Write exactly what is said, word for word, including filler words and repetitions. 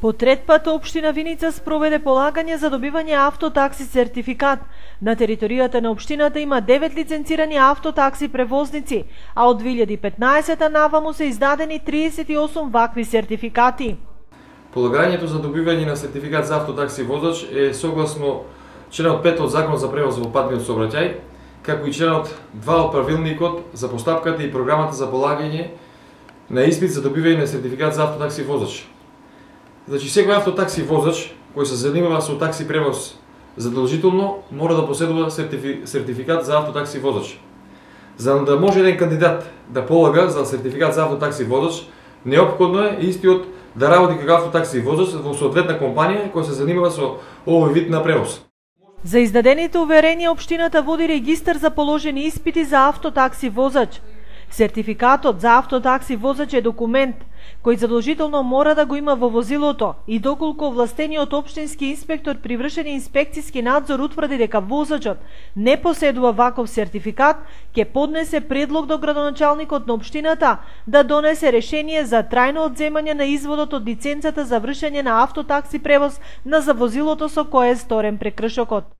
По трет пат општина Виница спроведе полагање за добивање автотакси сертификат. На територијата на општината има девет лиценцирани автотакси превозници, а од две илјади и петнаесета наваму се издадени триесет и осум вакви сертификати. Полагањето за добивање на сертификат за автотакси водач е согласно членот пет од Законот за превоз во патниот сообраќај, како и членот два од Правилникот за постапката и програмата за полагање на испит за добивање на сертификат за автотакси водач. Значи, секој автотакси возач кој се занимава со такси превоз задолжително мора да поседува сертифи... сертификат за автотакси возач. За да може еден кандидат да полага за сертификат за автотакси возач, неопходно е истиот да работи како автотакси возач во соодветна компанија која се занимава со овој вид на превоз. За издадените уверенија општината води регистар за положени испити за автотакси возач. Сертификатот за автотакси возач е документ кој задолжително мора да го има во возилото и доколку овластениот општински инспектор при вршење инспекциски надзор утврди дека возачот не поседува ваков сертификат, ќе поднесе предлог до градоначалникот на општината да донесе решение за трајно одземање на изводот од лиценцата за вршење на автотакси превоз на за возилото со кое е сторен прекршокот.